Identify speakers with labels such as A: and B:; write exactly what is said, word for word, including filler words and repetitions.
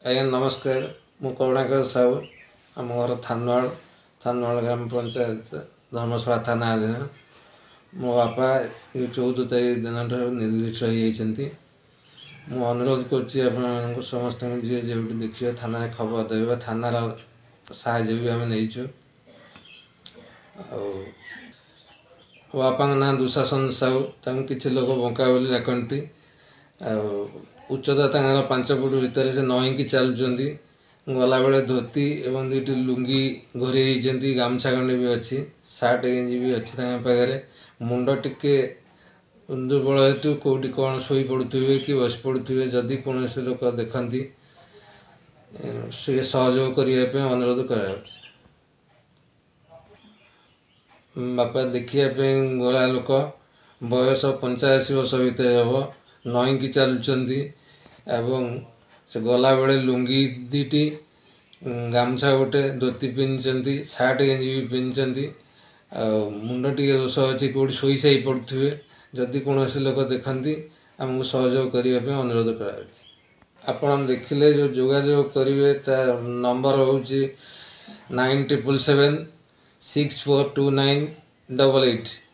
A: ଆଜ୍ଞା ନମସ୍କାର, ମୁଁ କରୁଣାକର ସାହୁ। ଆମ ଘର ଥାନୱାଳ, ଥାନୱାଳ ଗ୍ରାମ ପଞ୍ଚାୟତ, ଧର୍ମଶାଳା ଥାନା ଅଧୀନ। ମୋ ବାପା ଏଇ ଚଉଦ ତାରିଖ ଦିନଠାରୁ ନିର୍ଦ୍ଦିଷ୍ଟ ହେଇଯାଇଛନ୍ତି। ମୁଁ ଅନୁରୋଧ କରୁଛି ଆପଣମାନଙ୍କୁ ସମସ୍ତଙ୍କୁ, ଯିଏ ଯେଉଁଠି ଦେଖିବେ ଥାନାରେ ଖବର ଦେବେ ବା ଥାନାର ସାହାଯ୍ୟ ବି ଆମେ ନେଇଛୁ। ଆଉ ମୋ ବାପାଙ୍କ ନାଁ ଦୁଶାସନ ସାହୁ, ତାଙ୍କୁ କିଛି ଲୋକ ବଙ୍କା ବୋଲି ଡାକନ୍ତି। ଆଉ ଉଚ୍ଚତା ତାଙ୍କର ପାଞ୍ଚ ଫୁଟ ଭିତରେ। ସେ ନଇଁକି ଚାଲୁଛନ୍ତି। ଗଲାବେଳେ ଧୋତି ଏବଂ ଦୁଇଟି ଲୁଙ୍ଗି ଘୋରେଇ ହେଇଛନ୍ତି, ଗାମୁଛା ଖଣ୍ଡେ ବି ଅଛି, ସାର୍ଟ ଗେଞ୍ଜି ବି ଅଛି ତାଙ୍କ ପାଖରେ। ମୁଣ୍ଡ ଟିକେ ଦୁର୍ବଳ ହେତୁ କେଉଁଠି କ'ଣ ଶୋଇ ପଡ଼ୁଥିବେ କି ବସି ପଡ଼ୁଥିବେ। ଯଦି କୌଣସି ଲୋକ ଦେଖନ୍ତି, ସେ ସହଯୋଗ କରିବା ପାଇଁ ଅନୁରୋଧ କରାଯାଉଛି। ବାପା ଦେଖିବା ପାଇଁ ଗୋରା ଲୋକ, ବୟସ ପଞ୍ଚାଅଶୀ ବର୍ଷ ଭିତରେ ହେବ, ନଇଁକି ଚାଲୁଛନ୍ତି ଏବଂ ସେ ଗଲାବେଳେ ଲୁଙ୍ଗି ଦୁଇଟି, ଗାମୁଛା ଗୋଟେ, ଧୋତି ପିନ୍ଧିଛନ୍ତି, ସାର୍ଟ ଗେଞ୍ଜି ବି ପିନ୍ଧିଛନ୍ତି। ଆଉ ମୁଣ୍ଡ ଟିକେ ଦୋଷ ଅଛି, କେଉଁଠି ଶୋଇ ସାଇ ପଡ଼ୁଥିବେ। ଯଦି କୌଣସି ଲୋକ ଦେଖନ୍ତି, ଆମକୁ ସହଯୋଗ କରିବା ପାଇଁ ଅନୁରୋଧ କରାଯାଉଛି। ଆପଣ ଦେଖିଲେ ଯେଉଁ ଯୋଗାଯୋଗ କରିବେ, ତା ନମ୍ବର ହେଉଛି nine triple seven six four two nine double eight.